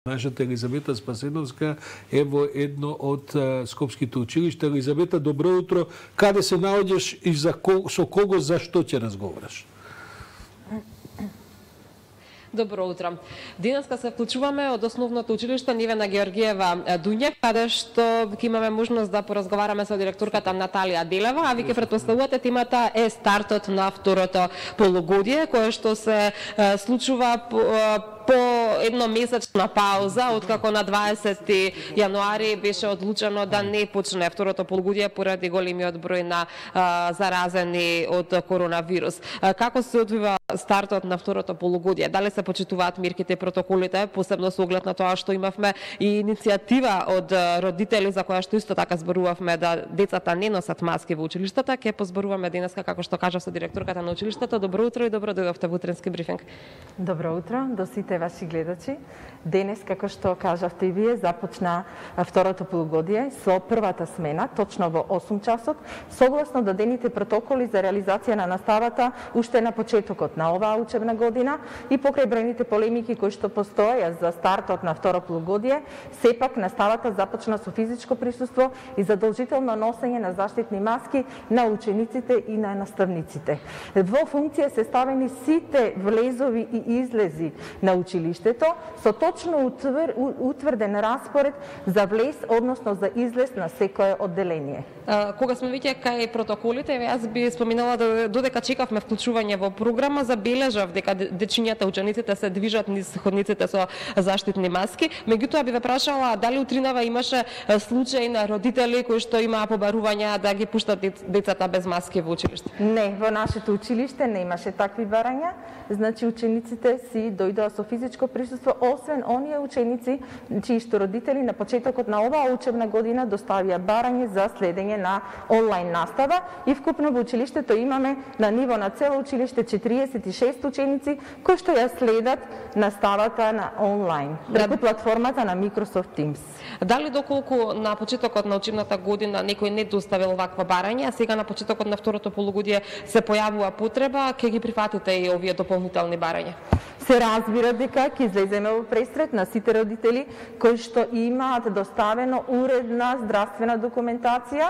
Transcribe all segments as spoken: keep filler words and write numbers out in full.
Нашата Елизавета Спасеновска е во едно од скопските училишта. Елизавета, добро утро. Каде се наоѓаш и за ко, со кого, за што ќе разговараш? Добро утро. Денеска се вклучуваме од основното училиште Нивена Георгиева Дуњев, каде што ќе имаме можност да поразговараме со директорката Наталија Делева, а ви ќе претпоставувате темата е стартот на второто полугодие, кое што се случува по, по едномесечна пауза, откако на дваесети јануари беше одлучено да не почне второто полугодие поради големиот број на а, заразени од коронавирус. А, како се одвива стартот на второто полугодие? Дали се почитуваат мерките и протоколите, посебно со оглед на тоа што имавме и иницијатива од родители за која што исто така зборувавме да децата не носат маски во училиштата? Ќе позборуваме денеска, како што кажав, со директорката на училиштето. Добро утро и добро дојдовте во утренски брифинг. Добро утро до сите ваши гледачи. Денес, како што кажавте и вие, започна второто полугодие со првата смена, точно во осум часот, согласно дадените протоколи за реализација на наставата уште на почетокот на оваа учебна година и покрај бројните полемики кои што постоја за стартот на второ полугодие, сепак наставата започна со физичко присуство и задолжително носење на заштитни маски на учениците и на наставниците. Во функција се ставени сите влезови и излези на училиштето со точно утвр, утврден распоред за влез, односно за излез на секое одделение. А, кога сме веќе кај протоколите, јас би споминала да додека чекавме вклучување во програма, забележав дека дечињата, учениците се движат низ ходниците со заштитни маски. Меѓутоа би ве прашала дали утринава имаше случаи на родители кои што имаа побарувања да ги пуштат децата без маски во училиште? Не, во нашето училиште не имаше такви барања. Значи учениците си дојдоа со физичко присуство, освен оние ученици чии што родители на почетокот на оваа учебна година доставија барање за следење на онлайн настава и вкупно во училиштето имаме на ниво на цело училиште четириесет и шест ученици кои што ја следат наставата на онлайн преку платформата на Microsoft Teams. Дали доколку на почетокот на учебната година некој не доставил ваква барање, а сега на почетокот на второто полугодие се појавува потреба, ќе ги прифатите и овие дополнителни барања? Се разбира дека ќе излеземе во пресрет на сите родители кои што имаат доставено уредна здравствена документација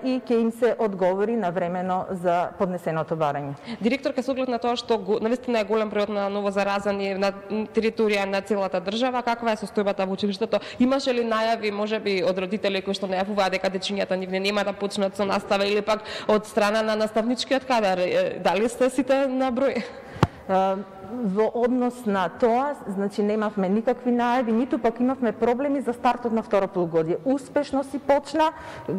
и ќе им се одговори навремено за поднесеното барање. Директорка, со оглед на тоа што навистина е голем бројот на новозаразени на територија на целата држава, каква е состојбата во училиштето? Имаше ли најави, можеби од родители кои што најавуваат дека дечињата нивни нема да почнат со настава или пак од страна на наставничкиот кадар? Дали сте сите на број? Во однос на тоа, значи немавме никакви најави, ниту пак имавме проблеми за стартот на второ полугодие. Успешно си почна,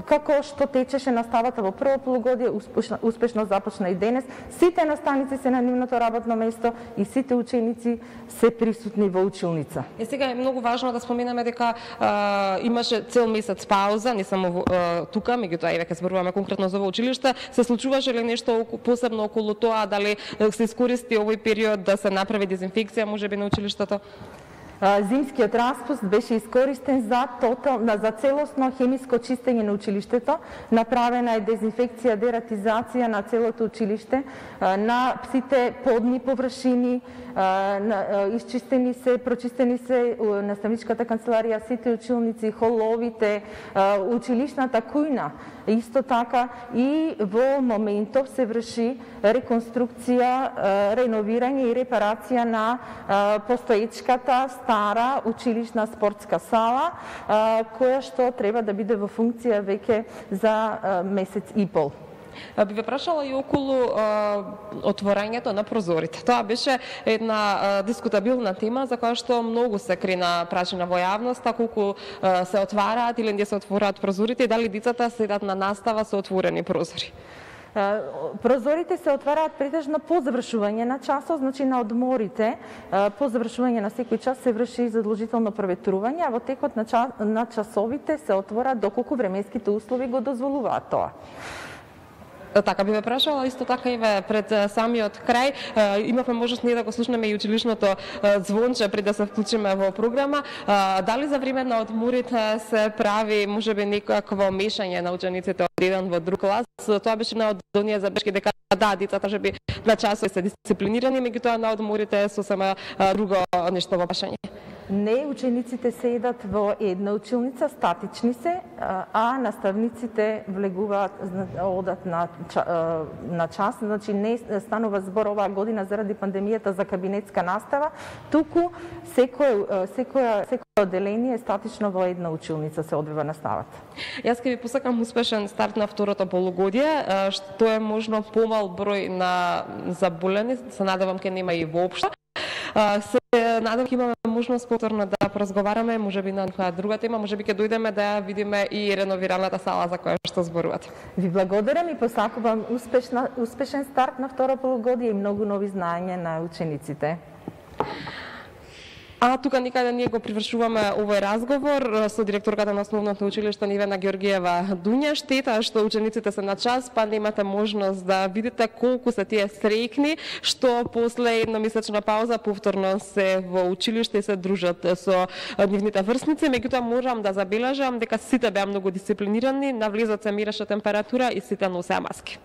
како што течеше наставата во прво полугодие, успешно, успешно започна и денес. Сите наставници се на нивното работно место и сите ученици се присутни во училница. Е, сега е многу важно да споменаме дека а, имаше цел месец пауза, не само а, тука, меѓутоа и веќе зборуваме конкретно за ово училиште. Се случуваше ли нешто посебно околу тоа, дали се искористи овој период да се направи дезинфекција можеби на училиштето? Зимскиот распуст беше искористен за тотал, за целосно хемиско чистење на училиштето. Направена е дезинфекција, дератизација на целото училиште, на сите подни површини, исчистени се, прочистени се наставничката канцеларија, сите училници, холовите, училишната кујна. Исто така и во моментов се врши реконструкција, реновирање и репарација на постоечката стара училишна спортска сала, која што треба да биде во функција веќе за месец и пол. Би ве прашала и околу а, отворањето на прозорите. Тоа беше една а, дискутабилна тема за која што многу се крена прашања во јавноста, колку а, се отвараат или не се отвораат прозорите и дали децата следат на настава со отворени прозори. Прозорите се отвараат претежно по завршување на часот, значи на одморите, по завршување на секој час се врши задолжително проветрување, а во текот на, час, на часовите се отвораат доколку временските услови го дозволуваат тоа. Така би ве прашала, исто така и ве пред самиот крај, имавме можност ние да го слушнеме и училишното звонче пред да се вклучиме во програма. Дали за време на одморите се прави можеби некакво мешање на учениците од еден во друг клас? Тоа беше една од оние забелешки дека да, децата би на часот се дисциплинирани, меѓутоа на одморите е сосема друго нешто во прашање. Не учениците седат во една училница, статични се, а наставниците влегуваат, одат на, на час. Значи не станува збор оваа година заради пандемијата за кабинетска настава, туку секој секоја секој одделение статично во една училница се одвива наставата. Јас ќе ви посакам успешен старт на второто полугодие, што е можно помал број на заболени, се надевам ќе нема и воопшто. Се надам ќе имаме можност повторно да поразговараме, можеби на некоја друга тема, можеби ќе дојдеме да ја видиме и реновираната сала за која што зборувате. Ви благодарам и посакувам успешна, успешен старт на второ полугодие и многу нови знаења на учениците. А тука никаде ние го привршуваме овој разговор со директорката на Основното училиште Нивена Георгиева Дуња. Штета што учениците се на час, па немате можност да видите колку се тие среќни што после едномесечна пауза повторно се во училиште и се дружат со нивните врсници. Меѓутоа морам да забележам дека сите беа многу дисциплинирани, на влезот се мереше температура и сите носеа маски.